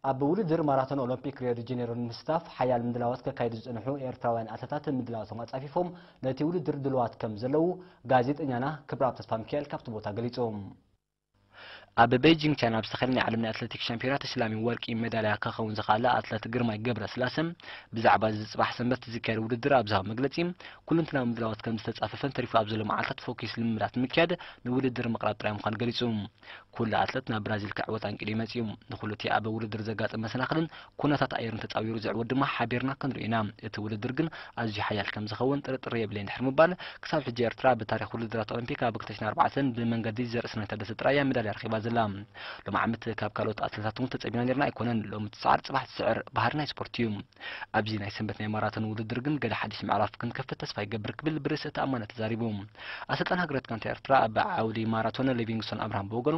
ኣብ ውድድር ማራቶን ኦሎምፒክ ሪዮ ዲ ጀኔሮ ንምስታፍ ሓያል ምድላዋት ከካይዱ ዝጸንሑ ኤርትራውያን ኣትለታት ምድላዋቶም ኣጻፊፎም ነቲ ውድድር ድልዋት ከም ዘለዉ ጋዜጠኛና ክብረኣብ ተስፋሚካኤል ካብቲ ቦታ ገሊጹ። ኣብ ቤጂንግ ቻይና ኣብ ዝተኻየደ ናይ ዓለም ናይ ኣትሌቲክስ ሻምፒዮና ተሸላሚ ወርቂ ሜዳልያ ክኸውን ዝኸኣለ ኣትሌት ግርማይ ገብረስላሰ ብዛዕባ እዚ ጽባሕ ሰንበት ዝካየድ ውድድር ኣብ ዝሃቦ መግለጺ፣ ኩለንትናዊ ምድላዋት ከም ዝተጻፈፈን ተሪፉ ኣብ ዘሎ መዓልታት ፎኪስ ልምምዳት ምክያድ ንውድድር ምቕራብ ጥራይ ምዃኑ ገሊጹ። ኩሉ ኣትለት ናብ ብራዚል ክዕወት ኣንቂዱ እዩ መጺኡ። ንኹሉ እቲ ኣብ ውድድር ዘጋጥም መሰናኽልን ኩነታት ኣየርን ተጻዊሩ ዝዕወት ድማ ሓቢርና ክንሪኦ ኢና። እቲ ውድድር ግን ኣዝዩ ሓያል ከም ዝኸውን ጥርጥር የብለይን ድሕሪ ምባል፣ ክሳብ ሕጂ ኤርትራ ብታሪኽ ውድድራት ኦሎምፒክ ኣብ ክልተ ሽሕን ኣርባዕተን ብመንገዲ ዘርእስናይ ታደሰ ጥራይ እያ ሜዳልያ ረኺባ ዘላ። ሎም ዓመት ካብ ካልኦት ኣትለታት እውን ተጸቢና ነርና ኣይኮነን። ሎሚ ትስዓር ጽባሕ ትስዕር ባህሪ ናይ ስፖርት እዩ። ኣብዚ ናይ ሰንበት ናይ ማራቶን ውድድር ግን ገለ ሓድሽ ምዕራፍ ክንከፍት ተስፋ ይገብር ክብል ብርእሰ ተኣማንነት ተዛሪቡ። ኣሰልጣን ሃገራዊት ጋንታ ኤርትራ ኣብ ዓውዲ ማራቶን ሊቪንግስቶን ኣብርሃም ብወገኑ፣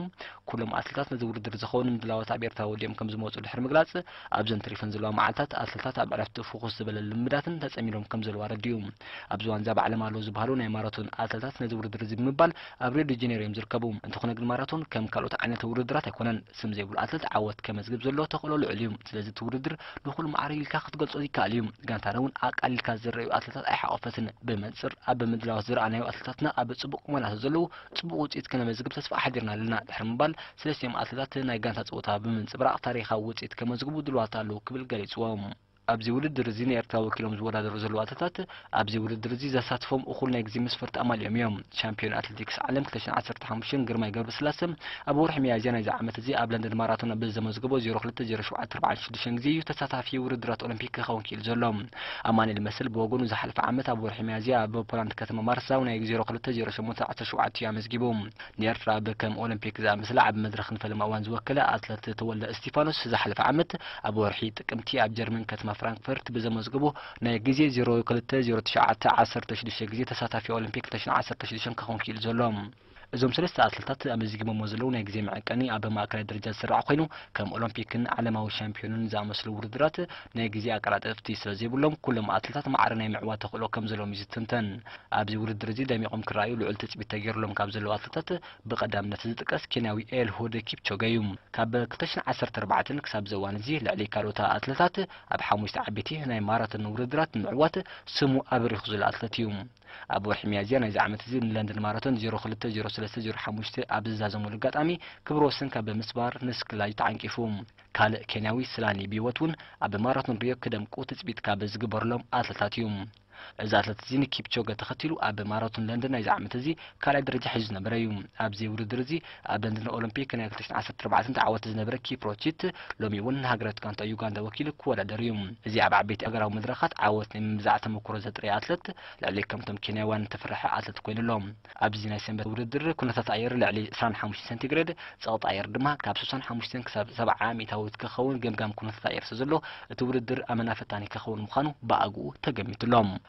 ኩሎም ኣትለታት ነዚ ውድድር ዝኸውን ምድላዋት ኣብ ኤርትራ ወዲኦም ከም ዝመጹ ድሕሪ ምግላጽ፣ ኣብዘን ተሪፈን ዘለዋ መዓልታት ኣትለታት ኣብ ዕረፍቲ ፍኹስ ዝበለ ልምዳትን ተጸሚዶም ከም ዘለዉ ኣረዲኡ። ኣብዚ ዋንዛ ኣብ ዓለም ኣለዉ ዝበሃሉ ናይ ማራቶን ኣትለታት ነዚ ውድድር እዚ ብምባል ኣብ ሪዮ ዲ ጀኔሮ እዮም ዝርከቡ። እንተኾነ ግን ማራቶን ከም ካልኦት ዓይነት ውድድራት ኣይኮነን። ስም ዘይብሉ ኣትለት ዓወት ከመዝግብ ዘሎ ተኽእሎ ልዑል እዩ። ስለዚ እቲ ውድድር ንኹሉ ማዕረ ኢልካ ክትገልጾ ይከኣል እዩ። ጋንታና እውን ኣቃሊልካ ዝረኣዩ ኣትለታት ኣይሓቆፈትን። ብመንጽር ኣብ ምድላዋት ዝረኣናዮ ኣትለታትና ኣብ ጽቡቕ ቁመና ስለ ዘለዉ ጽቡቕ ውጽኢት ከነመዝግብ ተስፋ ኣሕዲርና ኣለና ድሕሪ ምባል፣ ሰለስቲኦም ኣትለታት ናይ ጋንታ ጸወታ ብምንጽብራቕ ታሪኻዊ ውጽኢት ከመዝግቡ ድልዋት ኣለዉ ክብል ገሊጽዎ። ኣብዚ ውድድር እዚ ንኤርትራ ወኪሎም ዝወዳደሩ ዘለዉ ኣትለታት ኣብዚ ውድድር እዚ ዘሳትፎም እኹል ናይ ግዜ መስፈርቲ ኣማሊኦም እዮም። ሻምፒዮን ኣትሌቲክስ ዓለም ክልተ ሽሕን ዓሰርተ ሓሙሽተ ግርማይ ገብረስላሰ ኣብ ወርሒ ሚያዝያ ናይዚ ዓመት እዚ ኣብ ለንደን ማራቶን ብዘመዝገቦ ዜሮ ክልተ ዜሮ ሸውዓተ ኣርባዓን ሽዱሽተን ግዜ እዩ ተሳታፊ ውድድራት ኦሎምፒክ ክኸውን ክኢሉ ዘሎ። ኣማኑኤል መሰል ብወገኑ ዝሓለፈ ዓመት ኣብ ወርሒ ሚያዝያ ኣብ ፖላንድ ከተማ ማርሳው ናይ ዜሮ ክልተ ዜሮ ሸሞንተ ዓሰርተ ሸውዓተ እዩ ኣመዝጊቡ። ንኤርትራ ብከም ኦሎምፒክ ዝኣመሰለ ዓቢ መድረኽ ንፈለማ እዋን ዝወከለ ኣትለት ተወልደ እስቲፋኖስ ዝሓለፈ ዓመት ኣብ ወርሒ ጥቅምቲ ኣብ ጀርመን ከተማ ፍራንክፈርት ብዘመዝገቦ ናይ ግዜ ዜሮ ክልተ ዜሮ ትሽዓተ ዓሰርተ ሽዱሽተ ግዜ ተሳታፊ ኦሎምፒክ ክልተ ሽሕን ዓሰርተ ሽዱሽተን ክኸውን ክኢሉ ዘሎ። እዞም ሰለስተ ኣትለታት ኣመዝጊቦሞ ዘለዉ ናይ ግዜ መዐቀኒ ኣብ ማእከላይ ደረጃ ዝስራዕ ኮይኑ፣ ከም ኦሎምፒክን ዓለማዊ ሻምፒዮንን ዝኣመሰሉ ውድድራት ናይ ግዜ ኣቀላጠፍቲ ስለ ዘይብሎም፣ ኩሎም ኣትለታት ማዕረ ናይ ምዕዋት ተኽእሎ ከም ዘለዎም እዩ ዝትንተን። ኣብዚ ውድድር እዚ ደሚቖም ክረኣዩ ልዑል ትጽቢት ተገይሩሎም ካብ ዘለዉ ኣትለታት ብቐዳምነት ዝጥቀስ ኬንያዊ ኤልሁድ ኪፕቾገ እዩ። ካብ ክልተ ሽሕን ዓሰርተ ኣርባዕተን ክሳብ እዚ እዋን እዚ ልዕሊ ካልኦት ኣትለታት ኣብ ሓሙሽተ ዓበይቲ ናይ ማራቶን ውድድራት ንምዕዋት ስሙ ኣብሪኹ ዘሎ ኣትለት እዩ። ኣብ ወርሒ ሚያዝያ ናይዚ ዓመት እዚ ንለንደን ማራቶን ዜሮ ክልተ ዜሮ ሰለስተ ዜሮ ሓሙሽተ ኣብ ዝዛዘመሉ ኣጋጣሚ ክብረ ወሰን ካብ ብምስባር ንስክላዩ ተዓንቂፉ። ካልእ ኬንያዊ ስላኒ ብህይወት እውን ኣብ ማራቶን ሪዮ ክደምቁ ትጽቢት ካብ ዝግበረሎም ኣትለታት እዩ። እዚ ኣትለት እዚ ንኪፕቾገ ተኸቲሉ ኣብ ማራቶን ለንደን ናይዚ ዓመት እዚ ካልኣይ ደረጃ ሒዙ ዝነበረ እዩ። ኣብዚ ውድድር እዚ ኣብ ለንደን ኦሎምፒክ ናይ ክልተ ሽሕን ዓሰርተ ኣርባዕተን ተዓወቲ ዝነበረ ኪፕሮቺት ሎሚ እውን ንሃገራዊት ጋንታ ዩጋንዳ ወኪሉ ክወዳደር እዩ። እዚ ኣብ ዓበይቲ ሃገራዊ መድረኻት ዓወት ናይ ምምዛዕ ተመክሮ ዘጥረየ ኣትለት ልዕሊ ከምቶም ኬንያውያን ዝተፈርሐ ኣትለት ኮይኑ ኣሎ። ኣብዚ ናይ ሰንበት ውድድር ኩነታት ኣየር ልዕሊ ዕስራን ሓሙሽተን ሴንቲግሬድ፣ ጸቕጢ ኣየር ድማ ካብ ስሳን ሓሙሽተን ክሳብ ሰብዓ ሚእታዊት ክኸውን ገምጋም ኩነታት ኣየር ስለ ዘሎ እቲ ውድድር ኣመና ፈታኒ ክኸውን ምዃኑ ብኣግኡ ተገሚቱ ኣሎ።